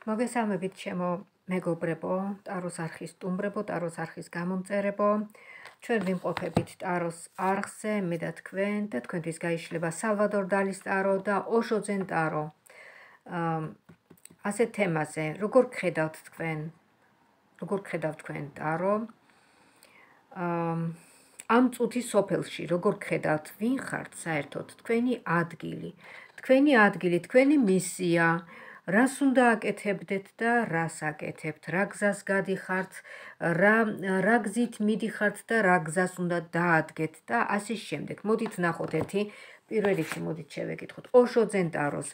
მოგესალმებით ჩემო მეგობრებო, ტაროს არხის სტუმრებო, ტაროს არხის გამომწერებო. ჩვენ ვიმყოფებით ტაროს არხზე, მე და თქვენთვის გაიშლება სალვადორ დალის ტარო და ოშო ძენ ტარო. ასეთ თემაზე, როგორ გხედავთ თქვენ ტარო? ამ წუთის სოფელში, როგორ გხედავთ, ვინ ხართ საერთოდ, თქვენი ადგილი, თქვენი მისია, რას უნდა აკეთებდეთ და რას აკეთებთ, რა გზას გადიხართ, რა გზით მიდიხართ და რა გზას უნდა დაადგეთ და ასე შემდეგ. მოდით ვნახოთ ერთი, პირველ რიგში მოდით შევეკითხოთ ოშო ძენ ტაროს,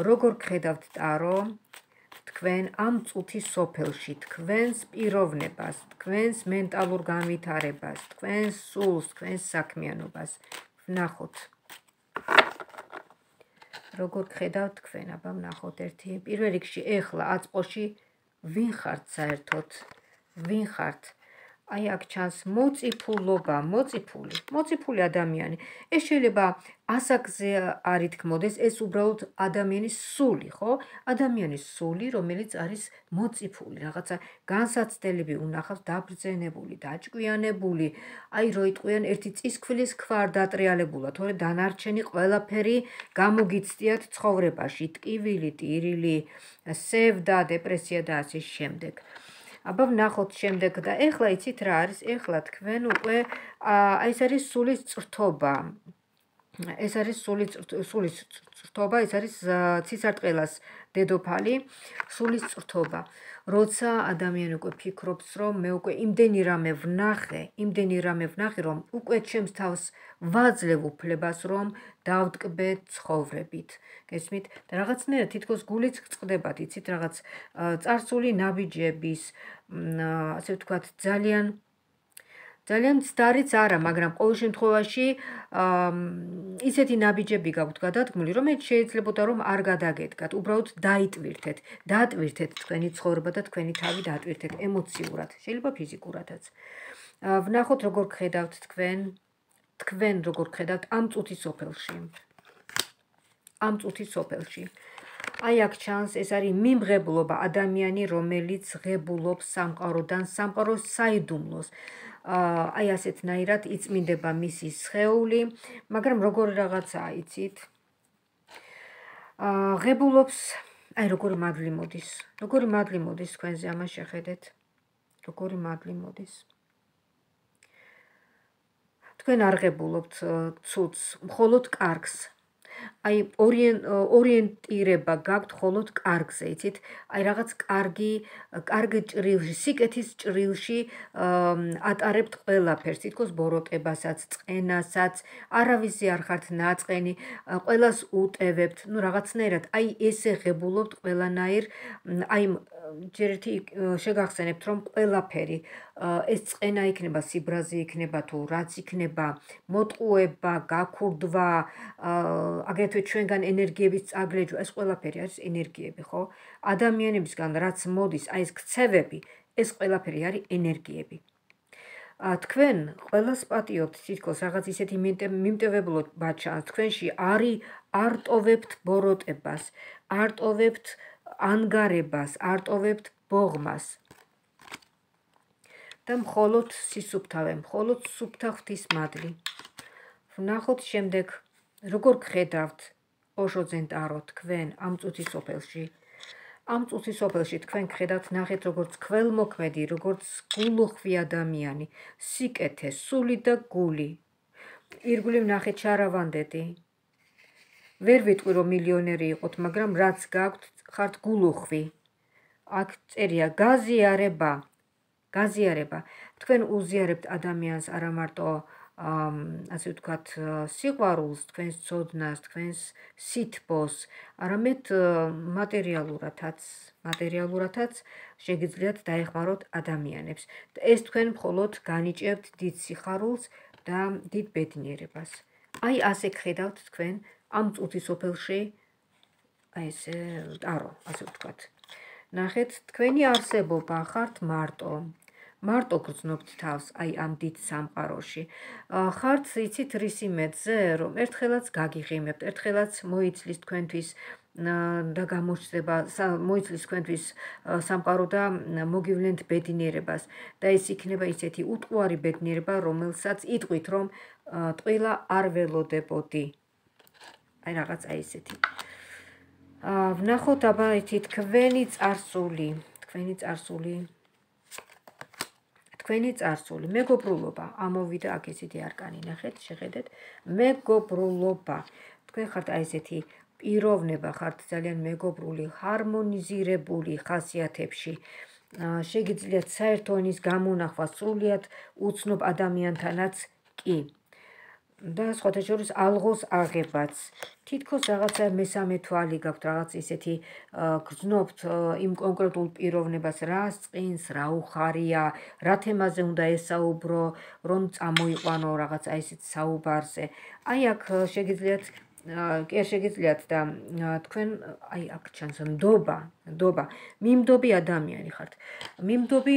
როგორ გხედავთ ტარო თქვენ ამ წუთის სოფელში, თქვენს პიროვნებას, თქვენს მენტალურ განვითარებას, თქვენს სულს, თქვენს საქმიანობას. ვნახოთ. როგორ გხედავთ თქვენ, აბა ვნახოთ ერთი. პირველ რიგში ეხლა აწყოში ვინ ხართ საერთოდ? ვინ ხართ? აი აქ ჩანს მოწიფულობა, მოწიფული ადამიანი. ეს შეიძლება ასაკზე არ ითქმოდეს, ეს უბრალოდ ადამიანის სული, ხო? ადამიანის სული, რომელიც არის მოწიფული, რაღაცა განსაცდელები უნახავს, დაბრძენებული, დაჭკვიანებული, აი რო იტყვიან ერთი წისქვილის ქვარ დატრიალებულა, თორე დანარჩენი ყველაფერი გამოგიცდიათ ცხოვრებაში, ტკივილი, ტირილი, სევდა, დეპრესია და ასე შემდეგ. აბა ვნახოთ შემდეგ და ეხლა იცით რა არის? ეხლა თქვენ უკვე ეს არის სულის წრთობა. ეს არის სულის წრთობა, ეს არის ცისარტყელას დედოფალი, სულის წრთობა. როცა ადამიანი უკვე ფიქრობს, რომ მე უკვე იმდენი რამე ვნახე, რომ უკვე ჩემს თავს ვაძლევ უფლებას, რომ დავტკბე ცხოვრებით. გესმით? და რაღაცნაირად თითქოს გულიც წყდებათ, იცით, რაღაც წარსული ნაბიჯების, ასე ვთქვათ, ძალიან ცდარიც არა, მაგრამ ყოველ შემთხვევაში ისეთი ნაბიჯები გაქვთ გადადგმული, რომელიც შეიძლებოდა რომ არ გადაგედგათ, უბრალოდ დაატვირთეთ თქვენი ცხოვრება და თქვენი თავი დაატვირთეთ ემოციურად, შეიძლება ფიზიკურადაც. ვნახოთ როგორ გხედავთ თქვენ როგორ გხედავთ ამ წუთის სოფელში. აი აქ ჩანს, ეს არის მიმღებლობა, ადამიანი, რომელიც ღებულობს სამყაროდან, სამყაროს საიდუმლოს. აი ასეთნაირად იწმინდება მისი სხეული, მაგრამ როგორი რაღაცაა, იცით? ღებულობს, აი როგორი მადლი მოდის თქვენზე, ამას შეხედეთ. როგორი მადლი მოდის. თქვენ არ ღებულობთ ცუდს, მხოლოდ კარგს. აი ორიენტირება გაქვთ მხოლოდ კარგზე, იცით? აი რაღაც კარგი ჭრილში, სიკეთის ჭრილში ატარებთ ყველაფერს, თითქოს ბოროტებასაც, წყენასაც, არავისზე არ ხართ ნაწყენი, ყველას უტევებთ, ну რაღაცნაირად, აი ესე ღებულობთ ყველანაირ, აი ჯერ ერთი შეგახსენებთ, რომ ყველაფერი ეს წყენა იქნება, სიბრაზე იქნება თუ რაც იქნება, მოტყუება, გაქურდვა, აგრეთვე ჩვენგან ენერგიების წაგლეჯვა, ეს ყველაფერი არის ენერგიები, ხო? ადამიანებისგან რაც მოდის, აი ეს ქცევები, ეს ყველაფერი არის ენერგიები. თქვენ ყველას პატიობთ, თითქოს რაღაც ისეთი მიმტევებლობა ჩანს თქვენში, არ ტოვებთ ბოროტებას, არ ტოვებთ ანგარებას, არ ტოვებთ ბოღმას. და მხოლოდ სისუფთავე, მხოლოდ სუფთა ღვთის მადლი. ვნახოთ შემდეგ, როგორ გხედავთ ოშო ძენ ტარო თქვენ ამ წუთის სოფელში. ამ წუთის სოფელში თქვენ გხედავთ, ნახეთ როგორც ქველმოქმედი, როგორც გულუხვი ადამიანი, სიკეთე, სული და გული. ირგვლივ ნახეთ ჩარავანდედი. ვერ ვიტყვი რომ მილიონერი იყოთ, მაგრამ რაც გაქვთ, ხართ გულუხვი. აქ წერია გაზიარება. თქვენ უზიარებთ ადამიანს არა მარტო ასე ვთქვათ, სიყვარულს, თქვენს ცოდნას, თქვენს სითბოს, არამედ მატერიალურადაც შეგიძლიათ დაეხმაროთ ადამიანებს. ეს თქვენ მხოლოდ განიჭებთ დიდ სიხარულს და დიდ ბედნიერებას. აი ასე გხედავთ თქვენ ამ წუთის სოფელში, აი ეს ტარო, ასე ვთქვათ. ნახეთ, თქვენი არსებობა ხართ მარტო გრძნობთ თავს აი ამ დიდ სამყაროში. ხართ იცით რის იმედზე, რომ ერთხელაც გაგიღიმებთ, ერთხელაც მოიცლის თქვენთვის და გამოჩნდება, მოიცლის თქვენთვის სამყარო და მოგივლენთ ბედნიერებას და ეს იქნება ისეთი უტყუარი ბედნიერება, რომელსაც იტყვით, რომ ტყილა არ ველოდებოდი. აი რაღაც აი ესეთი. ვნახოთ აბა ეთი თქვენი წარსული, მეგობრულობა, ამოვიდა აქ ესეთი არკანი, ნახეთ, შეხედეთ, მეგობრულობა. თქვენ ხართ აი ესეთი პიროვნება, ხართ ძალიან მეგობრული, ჰარმონიზირებული ხასიათებში. შეგიძლიათ საერთო ენის გამონახვა სრულიად უცნობ ადამიანთანაც კი. და სხვათა შორის ალღოს აღებაც. თითქოს რაღაცა მესამე თვალი გაქვთ, რაღაც ისეთი გრძნობთ იმ კონკრეტულ პიროვნებას, რას წინს, რა უხარია, რა თემაზე უნდა ესაუბრო, რომ წამოიყვანო რაღაც აი ესეთ საუბარზე. აი აქ შეგიძლიათ კი არ შეგიძლიათ და თქვენ აი აქ ჩანს ნდობა, მიმდობი ადამიანი ხართ. მიმდობი,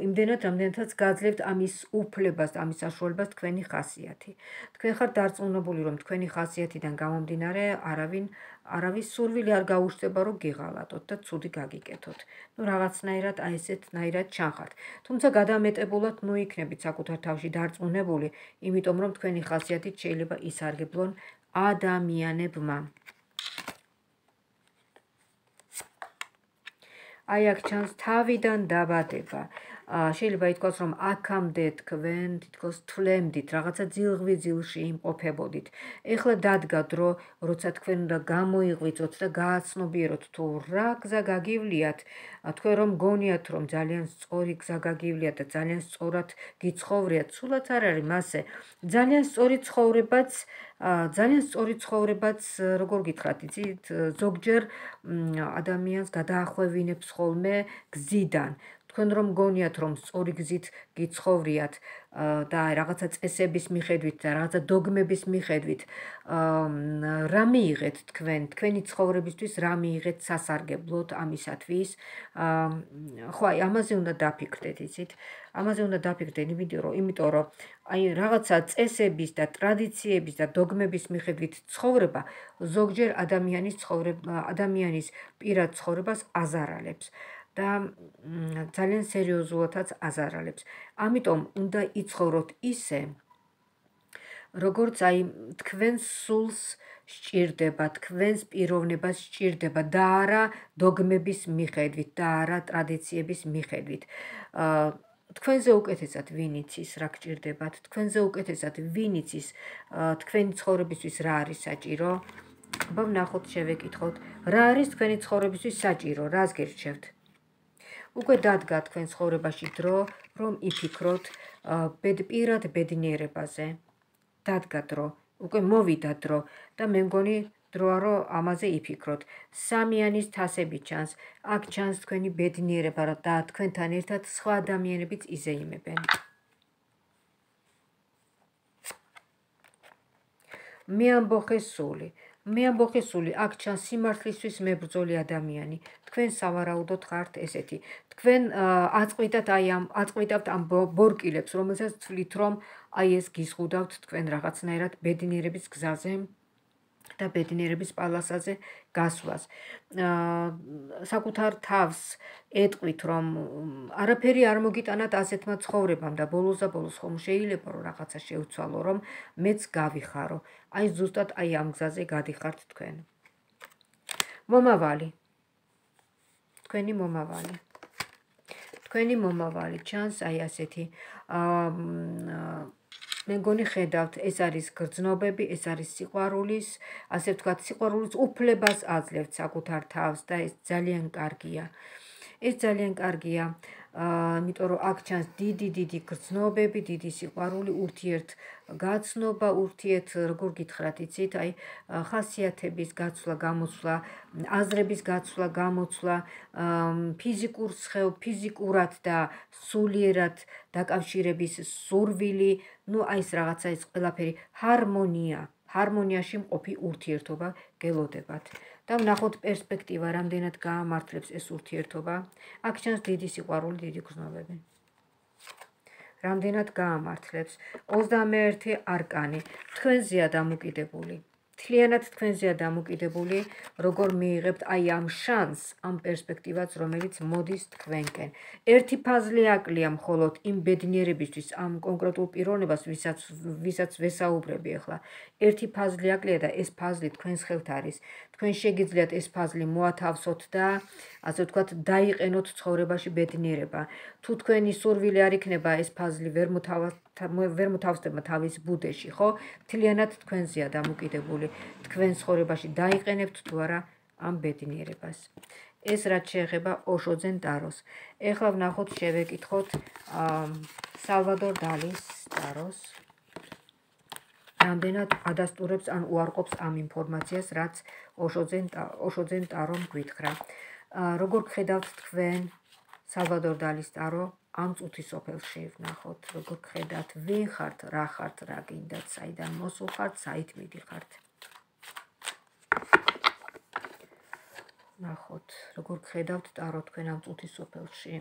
იმდენად რამდენადაც გაძლევთ ამის უფლებას, ამის საშუალებას თქვენი ხასიათი. თქვენ ხართ დარწმუნებული, რომ თქვენი ხასიათიდან გამომდინარე არავის სურვილი არ გაუჩნდება, რომ გიღალატოთ და ცუდი გაგიკეთოთ. რაღაცნაირად აი ესეთნაირად ჩანხართ. თუმცა გადამეტებულად იქნებით საკუთარ თავში დარწმუნებული, იმიტომ რომ თქვენი ხასიათით შეიძლება ისარგებლონ ადამიანებმა. აი აქ ჩანს თავიდან დაბადება. შეიძლება ითქვას, რომ აქამდე თქვენ თითქოს თვლემდით, რაღაცა ძილში იმყოფებოდით. ეხლა დადგა დრო, როცა თქვენ უნდა გამოიღვიძოთ და გააცნობიეროთ თუ რა გზა გაგივლიათ, თქვენ რომ გონიათ, რომ ძალიან სწორი გზა გაგივლიათ და ძალიან სწორად გიცხოვრიათ, სულაც არ არის მასე. ძალიან სწორი ცხოვრებაც, როგორ გითხრათ, იცით, ზოგჯერ ადამიანს გადაახვევინებს ხოლმე გზიდან. თქვენ რომ გონიათ, რომ სწორი გზით გიცხოვრიათ და რაღაცა წესების მიხედვით და რაღაცა დოგმების მიხედვით რა მიიღეთ თქვენი ცხოვრებისთვის რა მიიღეთ სასარგებლოდ ამისათვის. ხო, აი ამაზე უნდა დაფიქრდეთ, იცით? ამაზე უნდა დაფიქრდეთ, იმიტომ რომ აი რაღაცა წესების და ტრადიციების და დოგმების მიხედვით ცხოვრება ზოგჯერ ადამიანის პირად ცხოვრებას აზარალებს. და ძალიან სერიოზულადაც აზარალებს. ამიტომ უნდა იცხოვროთ ისე, როგორც აი თქვენს სულს სჭირდება, თქვენს პიროვნებას სჭირდება და არა დოგმების მიხედვით და არა ტრადიციების მიხედვით. თქვენზე უკეთესად ვინ იცის რა გჭირდებათ, თქვენზე უკეთესად ვინ იცის თქვენი ცხოვრებისთვის რა არის საჭირო? აბა ვნახოთ, შევეკითხოთ, რა არის თქვენი ცხოვრებისთვის საჭირო, რას გირჩევთ? უკვე დადგა თქვენ ცხოვრებაში დრო, რომ იფიქროთ პირად ბედნიერებაზე. დადგა დრო, უკვე მოვიდა დრო და მე მგონი დროა, რომ ამაზე იფიქროთ. სამიანის თასები ჩანს, აქ ჩანს თქვენი ბედნიერება და თქვენთან ერთად სხვა ადამიანებიც იზეიმებენ. მე ამბოხე სული, აქ ჩანს სიმართლისთვის მებრძოლი ადამიანი. თქვენ სავარაუდოდ ხართ ესეთი. თქვენ აწყვიდავთ ამ ბორკილებს, რომელსაც თვლით, რომ აი ეს გიზღუდავთ თქვენ რაღაცნაირად ბედნიერების გზაზე და ბედნიერების პალასაზე გასვლას. საკუთარ თავს ეტყვით, რომ არაფერი არ მოგიტანათ ასეთმა ცხოვრებამ და ბოლოს ხომ შეიძლება რომ რაღაცა შევცვალო, რომ მეც გავიხარო. აი ზუსტად აი ამ გზაზე გადიხართ თქვენ. მომავალი. თქვენი მომავალი ჩანს აი ასეთი. მე მგონი ხედავთ, ეს არის გრძნობები, ეს არის სიყვარულის, ასე ვთქვათ, სიყვარულის უფლებას აძლევთ საკუთარ თავს და ეს ძალიან კარგია. იმიტომ რომ აქ ჩანს დიდი გრძნობები, დიდი სიყვარული, ურთიერთგაცნობა, როგორ გითხრათ, იცით, აი ხასიათების გაცვლა, გამოცვლა, აზრების გაცვლა, გამოცვლა, ფიზიკურად და სულიერად დაკავშირების სურვილი, აი ეს რაღაცა ეს ყველაფერი ჰარმონიაში მყოფი ურთიერთობა გელოდებათ. და ვნახოთ პერსპექტივა, რამდენად გაამართლებს ეს ურთიერთობა. აქ ჩანს დიდი სიყვარული, დიდი გრძნობები. რამდენად გაამართლებს. 21 არკანი, თქვენზეა დამოკიდებული. მთლიანად თქვენზეა დამოკიდებული, როგორ მიიღებთ აი ამ შანსს, ამ პერსპექტივას, რომელიც მოდის თქვენკენ. ერთი ფაზლი აკლია მხოლოდ იმ ბედნიერებისთვის, ამ კონკრეტულ პიროვნებას, ვისაც ვესაუბრები ახლა. ერთი ფაზლი აკლია და ეს ფაზლი თქვენს ხელთ არის. თქვენ შეგიძლიათ ეს ფაზლი მოათავსოთ და ასე ვთქვათ, დაიყენოთ ცხოვრებაში ბედნიერება. თუ თქვენი სურვილი არ იქნება ეს ფაზლი ვერ მოთავსდება თავის ბუდეში, ხო? მთლიანად თქვენზეა დამოკიდებული. თქვენ ცხოვრებაში დაიყენებთ თუ არა ამ ბედნიერებას. ეს რაც შეეხება ოშოძენ ტაროს. ეხლა ვნახოთ, შევეკითხოთ სალვადორ დალის ტაროს. რამდენად ადასტურებს ან უარყოფს ამ ინფორმაციას, რაც ოშოძენ ტარომ გვითხრა. როგორ გხედავთ თქვენ სალვადორ დალის ტარო ამ წუთის სოფელში? ვნახოთ, როგორ გხედავთ, ვინ ხართ, რა ხართ, რა გინდათ, საიდან მოსულ ხართ, საით მიდიხართ. ვნახოთ, როგორ გხედავთ ტარო თქვენ ამ წუთის სოფელში.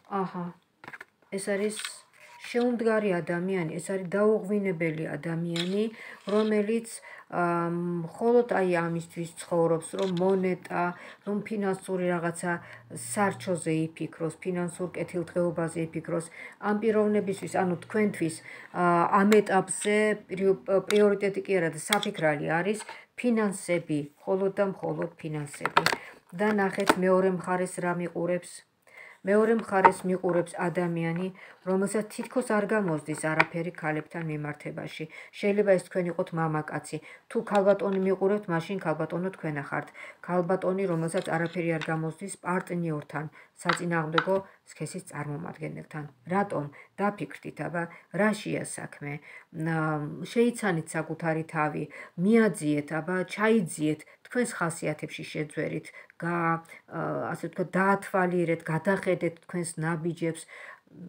აჰა, ეს არის შეუმდგარი ადამიანი, ეს არის დაუღვინებელი ადამიანი, რომელიც მხოლოდ აი ამისთვის ცხოვრობს, რომ მონეტა, რომ ფინანსური რაღაცა სარჩოზე იფიქროს, ფინანსურ კეთილდღეობაზე იფიქროს. ამ პიროვნებისთვის, ანუ თქვენთვის ამ ეტაპზე პრიორიტეტი კი არა და საფიქრალი არის ფინანსები, მხოლოდ და მხოლოდ ფინანსები. და ნახეთ მეორე მხარეს რა მიყურებს. მეორე მხარეს მიყურებს ადამიანი, რომელსაც თითქოს არ გამოსდის არაფერი ქალებთან მიმართებაში. შეიძლება ეს თქვენ იყოთ მამაკაცი. თუ ქალბატონი მიყურებთ, მაშინ ქალბატონო თქვენ ახართ. ქალბატონი, რომელსაც არაფერი არ გამოსდის პარტნიორთან, საწინააღმდეგო სქესის წარმომადგენელთან. რატომ? დაფიქრდით, აბა, რაშია საქმე? შეიცანით საკუთარი თავი, მიაძიეთ, აბა, ჩაიძიეთ, თქვენს ხასიათებში შეძვერით, ასე ვთქვათ, დაათვალიერეთ, გადახედეთ თქვენს ნაბიჯებს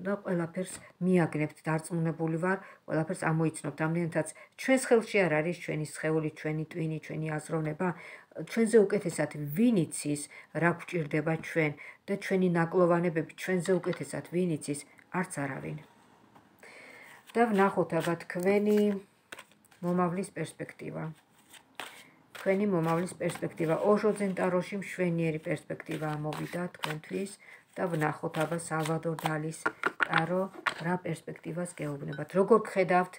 და ყველაფერს მიაგნებთ. დარწმუნებული ვარ, ყველაფერს ამოიცნობთ. ამდენადაც ჩვენს ხელში არ არის ჩვენი სხეული, ჩვენი ტვინი, ჩვენი აზროვნება. ჩვენზე უკეთესად ვინ იცის, რა გვჭირდება ჩვენ და ჩვენი ნაკლოვანებები ჩვენზე უკეთესად ვინ იცის, არც არავინ. და ვნახოთ, აბა, თქვენი მომავლის პერსპექტივა. თქვენი მომავლის პერსპექტივა. ოშოძენ ტაროში მშვენიერი პერსპექტივა ამოვიდა თქვენთვის და ვნახოთ, აბა, სალვადორ დალის ტარო რა პერსპექტივას გეუბნებათ. როგორ გხედავთ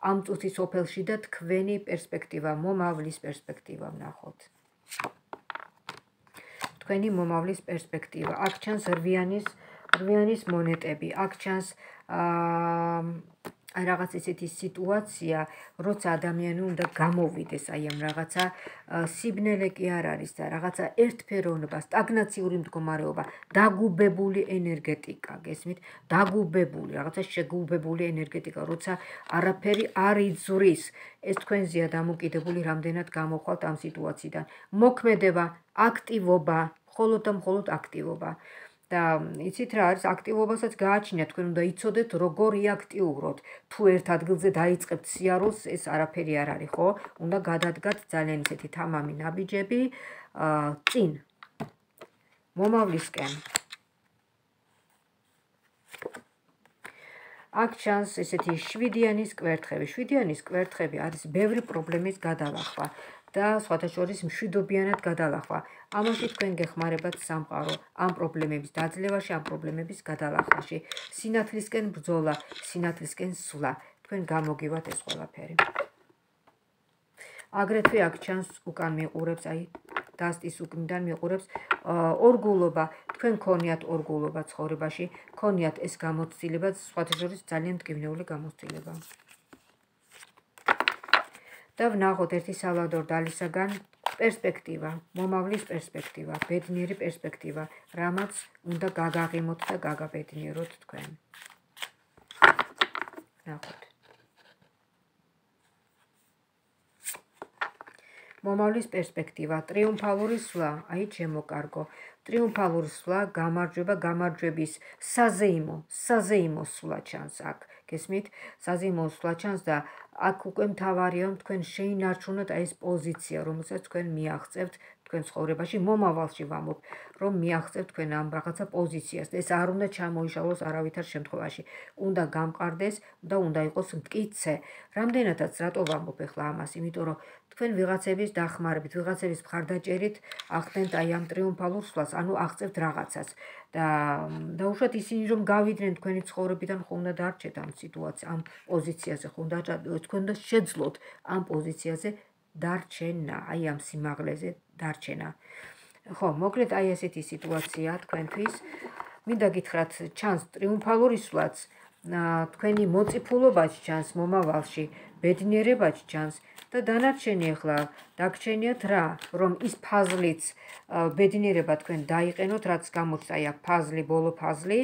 ამ წუთის ოფელში და თქვენი პერსპექტივა, მომავლის პერსპექტივა ვნახოთ. თქვენი მომავლის პერსპექტივა. აქ ჩანს რვიანის მონეტები. აქ ჩანს რაღაც ისეთი სიტუაცია, როცა ადამიანი უნდა გამოვიდეს აი ამ რაღაცა სიბნელე კი არ არის და რაღაცა ერთფეროვნება, სტაგნაციური მდგომარეობა, დაგუბებული ენერგეტიკა, გესმით? დაგუბებული, რაღაცა შეგუბებული ენერგეტიკა, როცა არაფერი არ იძვრის. ეს თქვენზეა დამოკიდებული, რამდენად გამოხვალთ ამ სიტუაციიდან. მოქმედება, აქტივობა, მხოლოდ და მხოლოდ აქტივობა. და იცით რა არის, აქტივობასაც გააჩნიათ, თქვენ უნდა იცოდეთ როგორ იაქტიუროთ. თუ ერთ ადგილზე დაიწყებთ სიარულს, ეს არაფერი არ არის, ხო? უნდა გადადგათ ძალიან ისეთი თამამი ნაბიჯები წინ მომავლისკენ. აქ ჩანს ესეთი შვიდიანის კვერთხები. შვიდიანის კვერთხები არის ბევრი პრობლემის გადალახვა და სხვათა შორის მშვიდობიანად გადალახვა. ამაში თქვენ გეხმარებათ სამყარო ამ პრობლემების დაძლევაში, ამ პრობლემების გადალახვაში. სინათლისკენ ბრძოლა, სინათლისკენ სვლა. თქვენ გამოგივათ ეს ყველაფერი. აგრეთვე აქ ჩანს უკან მიყურებს, აი დასტის უკნიდან მიყურებს ორგულობა. თქვენ ქონიათ ორგულობა ცხოვრებაში, ქონიათ ეს გამოცდილება, სხვათა შორის ძალიან მტკივნეული გამოცდილება. და ვნახოთ ერთი სალვადორ დალისაგან პერსპექტივა, მომავლის პერსპექტივა, ბედნიერი პერსპექტივა, რამაც უნდა გაგაღიმოთ და გაგაბედნიეროთ თქვენ. ვნახოთ. მომავლის პერსპექტივა, ტრიუმფალური სვლა, აი ჩემო კარგო. ტრიუმფალური სვლა, გამარჯვება, გამარჯვების საზეიმო სვლა ჩანს აქ. გესმით? საზეიმო სვლა ჩანს და აქ უკვე მთავარია რომ თქვენ შეინარჩუნოთ აი ეს პოზიცია, რომელსაც თქვენ მიაღწევთ თქვენ ცხოვრებაში, მომავალში ვამბობ, რომ მიაღწევთ თქვენ ამ რაღაცა პოზიციას. ეს არ უნდა ჩამოიშალოს არავითარ შემთხვევაში. უნდა გამყარდეს და უნდა იყოს მტკიცე. რამდენადაც რატო ვამბობ ახლა ამას? იმიტომ რომ თქვენ ვიღაცების დახმარებით, ვიღაცების მხარდაჭერით ახდენთ აი ამ ტრიუმფალურ სვლას, ანუ აღწევთ რაღაცას. და უშუალოდ ისინი რომ გავიდნენ თქვენი ცხოვრებიდან, ხო უნდა დარჩეთ ამ სიტუაციაზე, ამ პოზიციაზე, ხო უნდა თქვენ უნდა შეძლოთ ამ პოზიციაზე დარჩენა, აი ამ სიმაღლეზე დარჩენა. ხო, მოკლედ აი ესეთი სიტუაციაა თქვენთვის. მინდა გითხრათ, ჩანს ტრიუმფალური სვლაც, თქვენი მოწიფულობაც ჩანს მომავალში, ბედნიერებაც ჩანს და დანარჩენი ახლა დაგჩენიათ რა, რომ ის ფაზლიც ბედნიერება თქვენ დაიყენოთ, რაც გამოჩნდა აი აქ ფაზლი, ბოლო ფაზლი,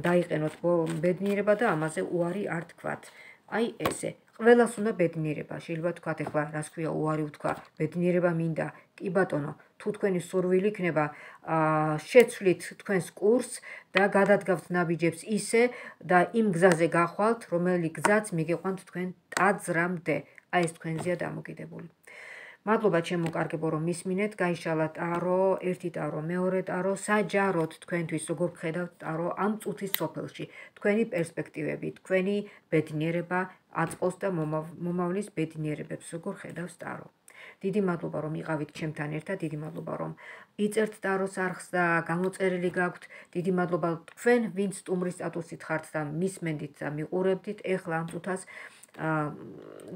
დაიყენოთ ბედნიერება და ამაზე უარი არ თქვათ. აი ესე. ყველას უნდა ბედნიერება. შეიძლება თქვათ ახლა, რას ქვია უარი ვთქვა, ბედნიერება მინდა. კი ბატონო, თუ თქვენი სურვილი იქნება, შეცვლით თქვენს კურსს და გადადგავთ ნაბიჯებს ისე და იმ გზაზე გახვალთ, რომელი გზაც მიგიყვანთ თქვენ ტაძრამდე. აი ეს თქვენზეა დამოკიდებული. მადლობა ჩემო კარგებო, რომ მისმინეთ, გაიშალა ტარო, ერთი ტარო, მეორე ტარო, საჯაროდ თქვენთვის როგორ გხედავთ ტარო ამ წუთის სოფელში, თქვენი პერსპექტივები, თქვენი ბედნიერება აწყოს და მომავლის ბედნიერებებს როგორ ხედავს ტარო. დიდი მადლობა რომ იყავით ჩემთან ერთად, დიდი მადლობა რომ იწერთ ტაროს არხს და გამოწერილი გაქვთ, დიდი მადლობა თქვენ, ვინც სტუმრის სტატუსით ხართ და მისმენდით და მიყურებდით, ეხლა ამ წუთას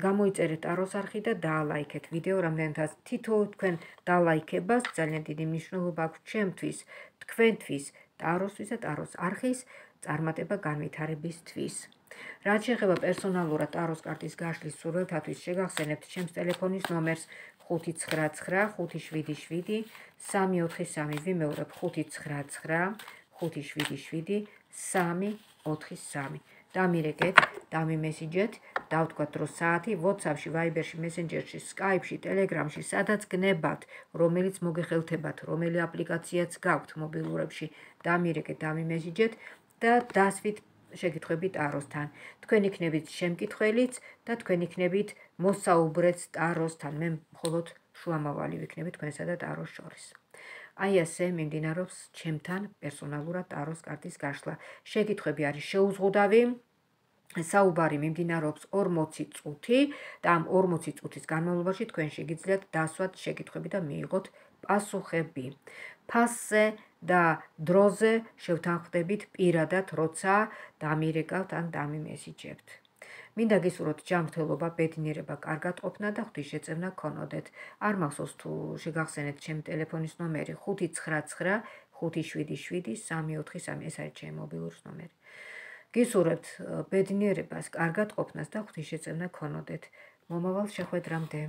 გამოიწერეთ ტაროს არხი და დაალაიქეთ ვიდეო, რამდენადაც თითოეულ თქვენ დაალაიქებას ძალიან დიდი მნიშვნელობა აქვს ჩემთვის, თქვენთვის, ტაროსთვის და ტაროს არხის წარმატება განვითარებისთვის. რაც შეეხება პერსონალურად ტაროს კარტის გაშლის სურვილთათვის, შეგახსენებთ ჩემს ტელეფონის ნომერს 599-577-343, ვიმეორებ 599-577-343. დამირეკეთ, დამიმესიჯეთ, დავთქვათ დრო საათი, WhatsApp-ში, Viber-ში, Messenger-ში, Skype-ში, Telegram-ში, სადაც გნებათ, რომელიც მოგეხელთებათ, რომელი აპლიკაციაც გაქვთ მობილურებში, დამირეკეთ, დამიმესიჯეთ და დასვით შეკითხვები ტაროსთან. თქვენ იქნებით შემკითხველიც და თქვენ იქნებით მოსაუბრეც ტაროსთან. მე მხოლოდ შუამავალი ვიქნები თქვენსა და ტაროს შორის. აი ასე მიმდინარეობს ჩემთან პერსონალურად ტაროს კარტის გაშლა. შეკითხვები არის შეუზღუდავი. საუბარი მიმდინარეობს 40 წუთი და ამ 40 წუთის განმავლობაში თქვენ შეგიძლიათ დასვათ შეკითხვები და მიიღოთ პასუხები. ფასზე და დროზე შევთანხმდებით პირადად, როცა დამირეკავთ ან დამიმესიჯებთ. მინდა გისურვოთ ჯანმრთელობა, ბედნიერება, კარგად ყოფნა და ღვთისშეწევნა გქონოდეთ. არ მახსოვს თუ შეგახსენეთ ჩემი ტელეფონის ნომერი 599-577-343, ეს არის ჩემი მობილურის ნომერი. გისურვებთ ბედნიერებას, კარგად ყოფნას და ღვთისშეწევნა გქონოდეთ. მომავალ შეხვედრამდე.